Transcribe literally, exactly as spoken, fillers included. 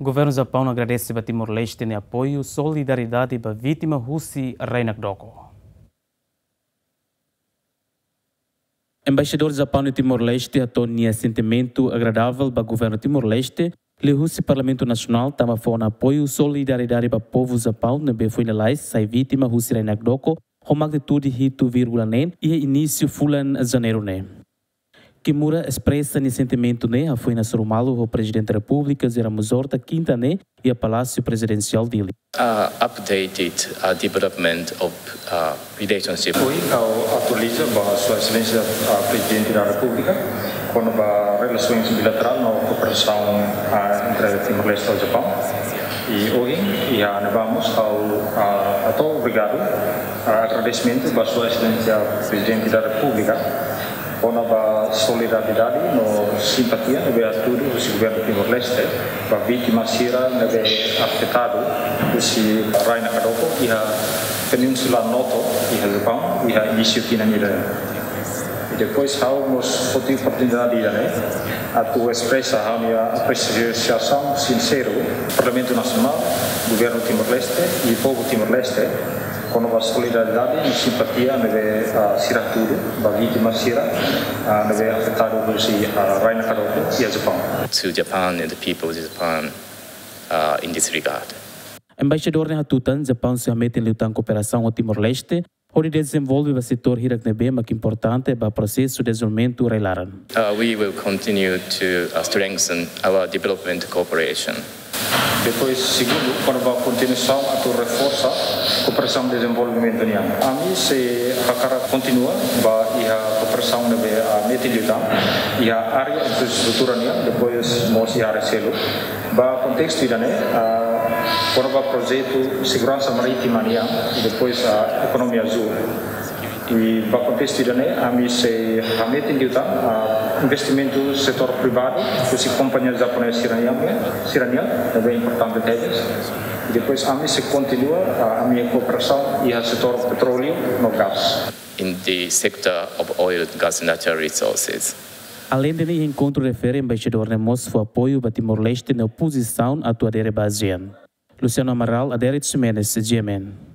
Governu Japaun agradese ba Timor-Leste nia apoiu solidariedade ba vítima husi rai nakdoko. Embaixadór Japaun iha Timor-Leste hato'o nia sentimentu agradável ba Governu Timor-Leste, liuhusi Parlamentu Nasionál, tanba fó ona apoiu solidariedade ba povu Japaun ne'ebé foin lalais sai vítima husi rai nakdoko ho magnitude hitu vírgula neen iha inísiu fulan Janeiru ne'e. Kimura espresa nia sentimentu ne'e hafoin hasoru malu ho Prezidente Repúblika José Ramos Horta kinta ne'e iha Palásiu Prezidensiál Dili. Uh, updated, uh, development of, uh, relationship. Ohin ha'u atualiza ba Sua Exelénsia, uh, Prezidente da Repúblika kona-ba relasoens bilaterál no kooperasaun, uh, entre Timor-Leste ho Japaun. I ohin, iha ne'ebá mós ha'u, uh, hato'o obrigadu, uh, agradesimentu ba Sua Exelénsia Prezidente da Repúblika kona-ba solidariedade no simpatia ne'ebé hatudu husi Governu Timor-Leste ba vítima sira ne'ebé afetadu husi rai nakdoko iha Península Noto, iha Japaun, iha inísiu tinan ida. I depois ha'u mós foti oportunidade ida-ne'e atu espresa ha'u-nia apresiasaun sinseru Parlamentu Nasionál, Governu Timor-Leste i povu Timor-Leste kona-ba solidariedade no simpatia ne'ebé, ah, sira hatudu ba vítima sira, ah, ne'ebé afetadu husi, ah, rai nakdoko iha Japaun. To Japan and the people of Japan, uh, in this regard. Embaixadór ne'e hatutan, Japaun sei hametin liután kooperasaun ho Timor-Leste, hodi dezenvolve ba setór hirak ne'ebé mak importante ba prosesu dezenvolvimentu rai-laran. Uh, we will continue to, uh, strengthen our development cooperation. Depois, segundu, kona-ba kontinuasaun atu reforsa kooperasaun dezenvolvimentu nian. Ami sei hakarak kontinua ba iha kooperasaun ne'ebé, ah, metin liután iha área infraestrutura nian, depois mós iha área seluk. Ba kontestu ida-ne'e, ah, kona-ba projetu seguransa marítima nian, depois, ah, ekonomia azúl. I ba kontestu ida-ne'e, ami sei hametin liután, ah, investimentu setór privadu, husi kompañia japonesa sira-nian, sira-nian, ne'ebé importante tebes. I depois ami sei kontinua, ah, ami-nia kooperasaun iha setór petróleu no gás. In the sector of oil, gas, and natural resources. Aleinde ne'e, enkontru refere, embaixadór ne'e mós fó apoiu ba Timor-Leste nia opozisaun atu adere ba ASEAN. Luciano Amaral, Adérito Ximenes, G M N.